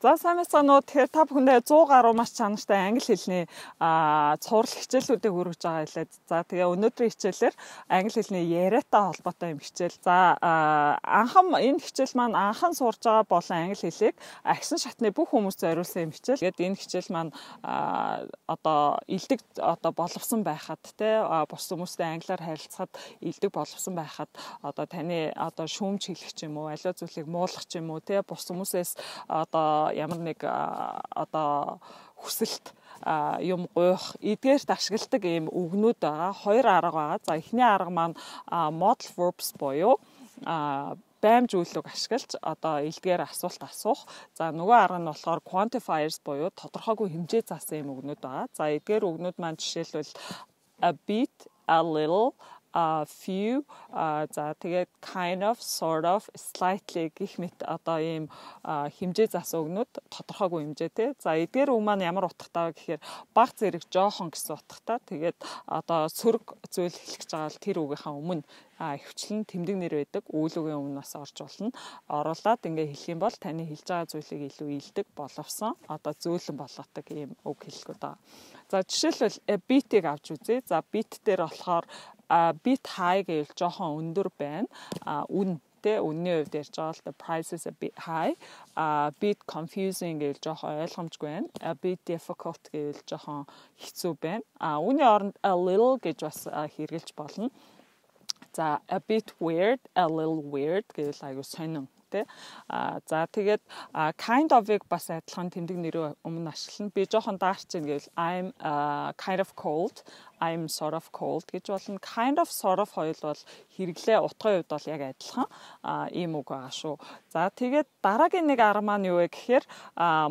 За сайн мэцгаанууд тэгэхээр та бүхэндээ 100 гаруй маш чанартай англи хэлний цуврал хичээлүүдийг хүргэж байгаа хэлээд. За тэгээ өнөөдрийн хичээлээр англи хэлний яриатай холбоотой юм хичээл. За энэ хичээл маань анхан сурж байгаа болон англи хэлийг агсан шатны бүх хүмүүст зориулсан юм хичээл. Тэгээд энэ хичээл маань одоо илдэг одоо боловсон байхад те бус хүмүүстэй англиар харилцахад илдэг боловсон байхад одоо таны одоо шүүмж хэлэх ч юм уу, аливаа зүйлийг муулах ч юм уу те бус хүмүүсээс одоо ямар нэг одоо хүсэлт юм гуйх эдгээрт ашигладаг ийм үгнүүд байгаа. Хоёр арга байгаа. За эхний арга маань modal verbs буюу баймж үйлийг ашиглаж одоо илгээр асуулт асуух. За нөгөө арга нь болохоор quantifiers буюу тодорхойгүй хэмжээ заасан юм үгнүүд байгаа. За эдгээр үгнүүд маань жишээлбэл a bit, a little, a few, за тэгээд kind of, sort of, slightly гэх мэт одоо ийм хэмжээ заасан үгнүүд тодорхойгүй хэмжээтэй. За эдгээр үг маань ямар утгатай вэ гэхээр баг зэрэг жоохон гэсэн утгатай. Тэгээд одоо сөрөг зүйл хэлэх гэж байгаа бол тэр үгийнхаа өмнө хвчлэн тэмдэг нэр байдаг үйл үгийн өмнөөс орж болно. Оруулаад ингээ хэлэх юм бол таны хэлж байгаа зүйлийг илүү илдэг боловсон одоо зөөлөн болгодог ийм үг хэллэгүүд байгаа. За жишээлбэл bit-ийг авч үзье. За bit дээр болохоор bit high гэвэл жоохон өндөр байна. Үнний хувьд ярьж байгаа л the price is a bit high. Bit confusing гэвэл жоохон ойлгомжгүй байна. A bit difficult гэвэл жоохон хэцүү байна. Үүний оронд a little гэж бас хэрэгжилж болно. За a bit weird, a little weird гэвэл аюу сонин. За тэгээд kind of-ыг бас адилхан тэмдэг нэрөө өмнө ашиглана. Би жоохон даарч ийн гэвэл I'm kind of cold, I'm sort of cold гэж болно. Kind of sort of хоёул бол хэрэглээ утгын хувьд бол яг адилхан ийм үг байгаа шүү. За тэгээд дараагийн нэг арга маань юу вэ гэхээр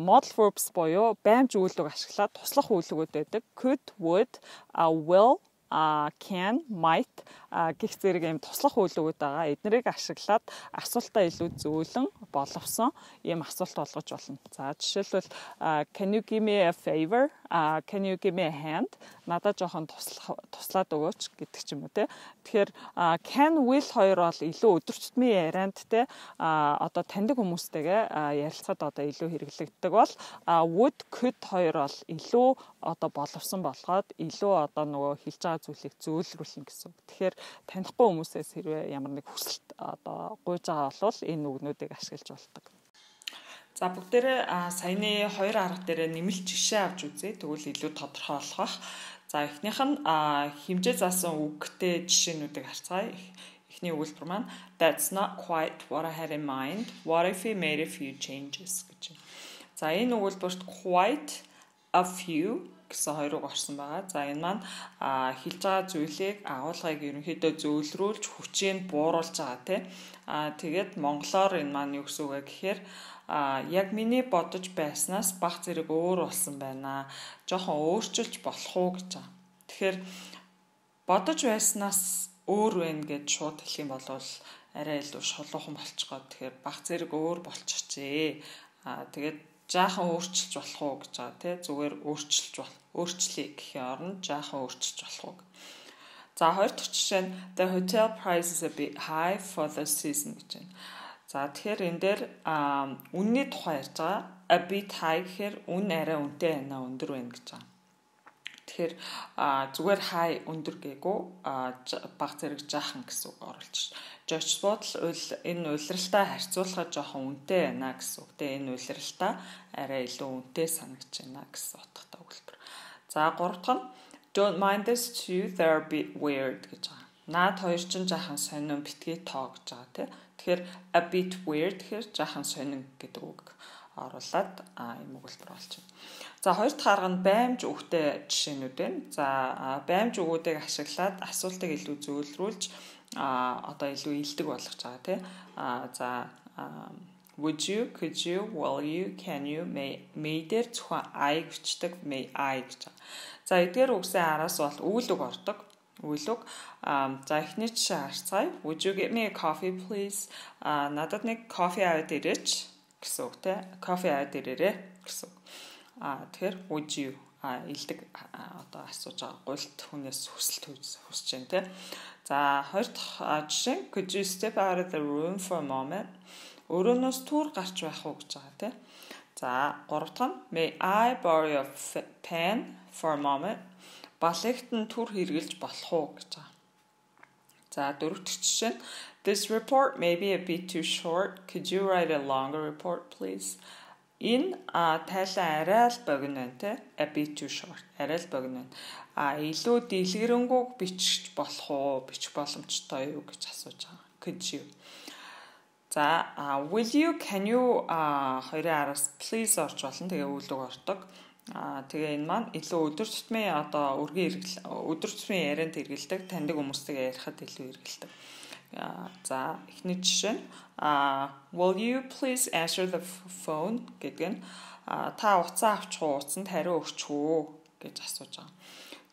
modal verbs буюу баймж үйлдвэг ашиглаад туслах үйлдвэгүүд байдаг. Could, would, will, can, might гэх зэрэг ийм туслах үйлдвүүд байгаа. Эднэрийг ашиглаад асуултаа илүү зөөлөн боловсон ийм асуулт болгож болно. За жишээлбэл can you give me a favor? Can you give me a hand? Надад жоохон туслаад өгөөч гэдэг ч юм уу те. Тэгэхээр can, will хоёр бол илүү өдөр тутмын ярианд те одоо таньдаг хүмүүстэйгээ ярилцахад одоо илүү хэрэглэгддэг бол would, could хоёр бол илүү одоо боловсон болгоод илүү одоо нөгөө хэлж байгаа зүйлийг зөөлрүүлнэ гэсэн үг. Тэгэхээр танихгүй хүмүүсээс хэрвээ ямар нэг хүсэлт одоо гуйж байгаа бол энэ үгнүүдийг ашиглаж болдог. За бүгдээрээ саяны хоёр арга дээр нэмэлт жишээ авч үзье. Тэгвэл илүү тодорхой болгох. За эхнийх нь хэмжээ заасан үгтэй жишээнүүдийг харцгаая. Эхний өгүүлбэр маань That's not quite what I had in mind. What if we made a few changes гэж. За энэ өгүүлбэрт quite, a few гэсэн хоёр үг орсон байгаа. За энэ маань хэлж байгаа зүйлийг агуулгыг ерөнхийдөө зөөлрүүлж хүчийг бууруулж байгаа тийм. Тэгээд монголоор энэ маань юу гэсэн үг вэ гэхээр яг миний бодож байснаас баг зэрэг өөр болсон байна. Жохон өөрчилж болох уу гэж байгаа. Тэгэхээр бодож байснаас өөр байна гэж шууд хэлэх юм бол арай илүү шулуухан болчихгоо. Тэгэхээр баг зэрэг өөр болчихжээ. Тэгээд жаахан өөрчилж болох уу гэж байгаа тий. Зүгээр өөрчлөе гэхийн оронд жаахан өөрчилж болох уу. За хоёр дахь жишээ нь the hotel price is a bit high for the season гэж байна. За тэгэхээр энэ дээр үнний тухай ярьж байгаа. A bit high гэхээр үн арай үнэтэй байна, өндөр байна гэж байгаа. Тэгэхээр зүгээр high өндөр гээгүй баг зэрэг жаахан гэсэн үг оруулж байна. George Bottle энэ уйлралтай харьцуулахад жоохон үнэтэй байна гэсэн үг. Тэгээ энэ уйлралтай арай илүү үнэтэй санагдаж байна гэсэн утгатай өгүүлбэр. За гурав дахь нь Don't mind this too, they're a bit weird гэж байгаа. Наад хоёр ч жаахан сонин битгий тоо гэж байгаа тийм. Тэгэхээр a bit weird гэхээр жаахан сонин гэдэг үг оруулаад ийм өгүүлбэр болж байна. За хоёр дахь арга нь баймж үгтэй жишээнүүд байна. За баймж үгүүдийг ашиглаад асуултыг илүү зөөлрүүлж одоо илүү илдэг болгож байгаа тийм. За would you, could you, will you, can you, may дээр зөвхөн I гэвчдэг, may I гэж байгаа. За эдгээр үгсийн араас бол үйл үг ордог. Үйл үг. За эхний жишээ харцгаая. Would you get me a coffee please? Надад нэг кофе аваад ирээч гэсэн үг те. Кофе аваад ирээрээ гэсэн үг. Тэгэхээр would you илдэг одоо асууж байгаа гуйлт хүнээс хүсэлт хүсэж байна те. За хоёр дахь жишээ could you step out of the room for a moment? Өрөөнөөс түр гарч байх уу гэж байгаа те. За 3 дахь нь may I borrow your pen for a moment? Балигт нь түр хэрглэж болох уу гэж байгаа. За 4 дахь жишээ нь this report may be a bit too short. Could you write a longer report please? Энэ тайлан арай л богино байна те. A bit too short. Арай л богино байна. Илүү дэлгэрэнгүй бичих болох уу? Бичих боломжтой юу гэж асууж байгаа. Could you? За will you, can you хоёрын араас please орж болно. Тэгээ үйлдэл ордог. Тэгээ энэ маань илүү өдөр тутмын одоо өдөр тутмын ярианд хэрэгэлдэг, таньдаг хүмүүстэйгээ ярихад илүү хэрэгэлдэг. За эхний жишээ нь will you please answer the phone гэдэг нь та утсаа авчих уу, утсанд хариу өгчих үү гэж асууж байгаа.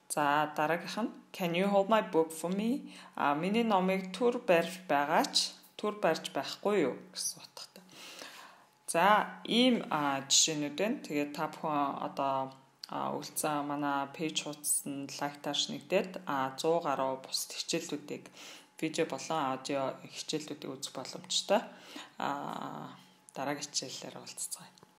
За дараагийнх нь can you hold my book for me? Миний номыг түр барьж байгаач түр барьж байхгүй юу гэсэн утгатай. За ийм жишээнүүд байна. Тэгээд та бүхэн одоо үлдсэн манай пэйж хуудсанд лайктаар нэгдээд 100 гаруй бус хичээллүүдийг видео болон аудио хичээллүүдийг үзэх боломжтой. Дараагийн хичээлээр уулзцгаая.